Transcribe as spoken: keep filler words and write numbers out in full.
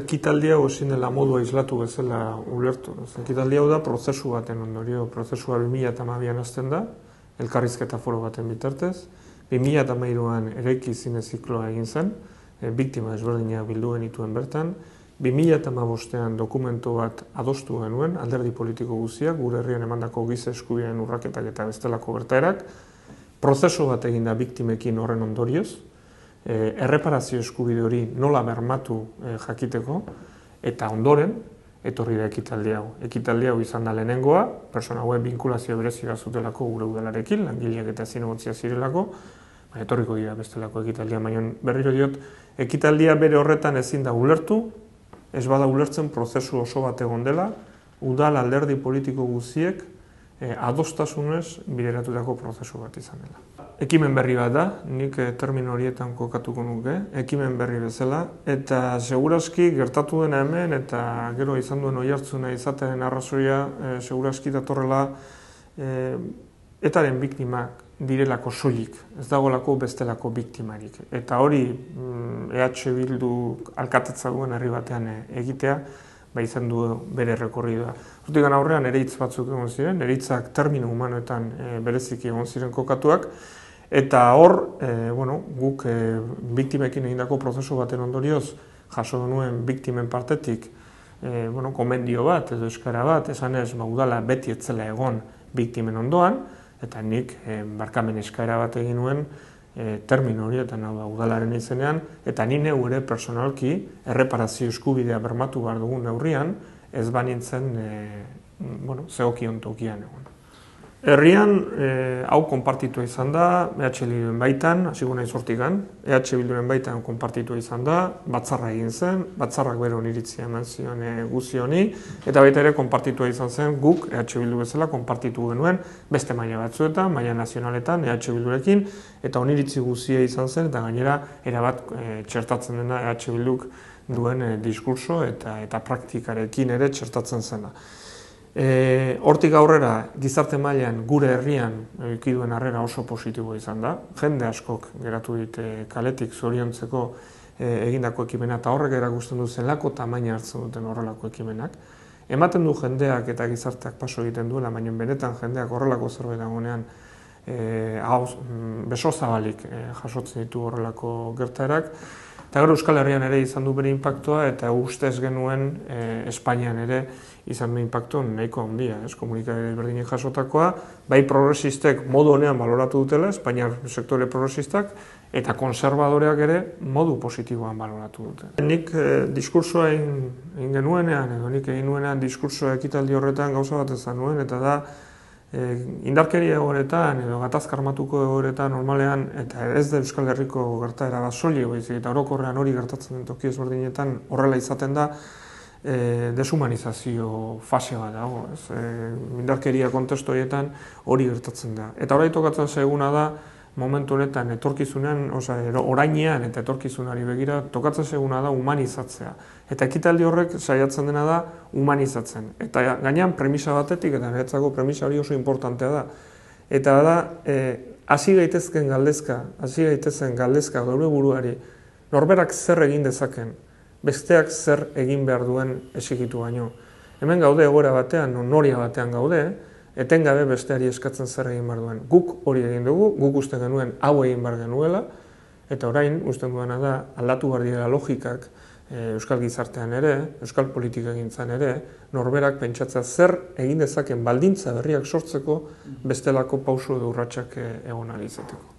ekitaldi hau ezin dela modu aislatu bezala ulertu. Ekitaldi hau da prozesu baten ondorio, prozesua bi mila hamabian hasten da, elkarrizketa foro baten bitartez, bi mila hamairuan eraiki zine zikloa egin zen, e, biktima ezberdinak bildu genituen bertan, bi mila hamabostean dokumentu bat adostu genuen, alderdi politiko guztiak, gure herrian emandako giza eskubideen urraketak eta bestelako gertaerak, prozesu bat egin da biktimekin horren ondorioz, e, erreparazio eskubide hori nola bermatu e, jakiteko, eta ondoren, etorri da ekitaldi hau. Ekitaldi hau izan da lehenengoa, persona hauen binkulazio berezia zutelako gure udalarekin, langileak eta zinegotzia zirelako, baina etorriko dira bestelako ekitaldia, baina berriro diot, ekitaldia bere horretan ezin da ulertu, ez bada ulertzen prozesu oso bat egon dela, udal alderdi politiko guztiek eh, adostasunez bideratutako prozesu bat izan dela. Ekimen berri bat da, nik eh, termino horietan kokatuko nuke, ekimen berri bezala, eta segurazki gertatu dena hemen, eta gero izan duen oihartzuna izaten arrazoia, eh, segurazki datorrela eh, etaren biktimak direlako soilik, ez dagolako bestelako biktimarik. Eta hori E H Bildu alkatetza duen herri batean egitea, ba izan du bere rekorridua. Hortik aurrean ere hitz batzuk egon ziren, ere hitzak termino humanoetan e, bereziki egon ziren kokatuak, eta hor, e, bueno, guk e, biktimekin egindako prozesu baten ondorioz, jaso denuen biktimen partetik, e, bueno, komendio bat edo eskara bat, esan ez, ba, udala beti etzela egon biktimen ondoan, eta nik e, barkamen eskaera bat egin nuen e, termino horietan, hau da, udalaren izenean, eta ni neu ere personalki erreparazio eskubidea bermatu behar dugun neurrian, ez banintzen e, bueno, zegokion tokian egon. Herrian, e, hau konpartitua izan da, E H Bilduren baitan, hasiko naiz hortikan, E H Bilduren baitan konpartitua izan da, batzarra egin zen, batzarrak bere oniritzia eman zion e, guzti honi, eta baita ere konpartitua izan zen guk, E H Bildu bezala, konpartitu genuen beste maila batzuetan, maila nazionaletan, E H Bildurekin, eta oniritzi guztia izan zen, eta gainera erabat e, txertatzen dena E H Bilduk duen e, diskurso eta, eta praktikarekin ere txertatzen zena. E, hortik aurrera, gizarte mailan gure herrian ikiduen harrera oso positiboa izan da. Jende askok geratu dit e, kaletik zoriontzeko e, egindako ekimena, eta horrek erakusten du zelako tamaina hartzen duten horrelako ekimenak. Ematen du jendeak eta gizarteak paso egiten duela, baina benetan jendeak horrelako zerbait dagoenean e, beso zabalik e, jasotzen ditu horrelako gertaerak. Eta gero Euskal Herrian ere izan du bere inpaktua, eta ustez genuen e, Espainian ere izan du inpaktu nahiko handia, ez, komunikabide berdinek jasotakoa, bai progresistek modu honean baloratu dutela, Espainiar sektore progresistak, eta konservadoreak ere modu positiboan baloratu dute. Nik e, diskursoa egin genuenean, edo nik egin nuenean diskursoa ekitaldi horretan gauza bat ezan nuen, eta da, E, indarkeria egoretan edo gatazka armatuko egoretan normalean, eta ez da Euskal Herriko gertaera bat soilik baizik, eta orokorrean hori gertatzen den toki ezberdinetan horrela izaten da, e, deshumanizazio fase bat dago, ez? E, indarkeria kontestu horietan hori gertatzen da. Eta hori tokatzen zaiguna da, momentu honetan etorkizunean, osea, orainean eta etorkizunari begira, tokatzen zaiguna da humanizatzea. Eta ekitaldi horrek saiatzen dena da humanizatzen. Eta gainean premisa batetik, eta niretzako premisa hori oso importantea da. Eta da, hasi e, gaitezken galdezka, hasi gaitezen galdezka gure buruari, norberak zer egin dezaken, besteak zer egin behar duen exigitu baino. Hemen gaude egoera batean, noria batean gaude, etengabe besteari eskatzen zer egin behar duen. Guk hori egin dugu, guk uste genuen hau egin behar genuela, eta orain usten duena da aldatu behar direla logikak e, Euskal gizartean ere, Euskal politika egintzan ere, norberak pentsatzea zer egin dezaken baldintza berriak sortzeko bestelako pausu edo urratsak egon ahal izateko.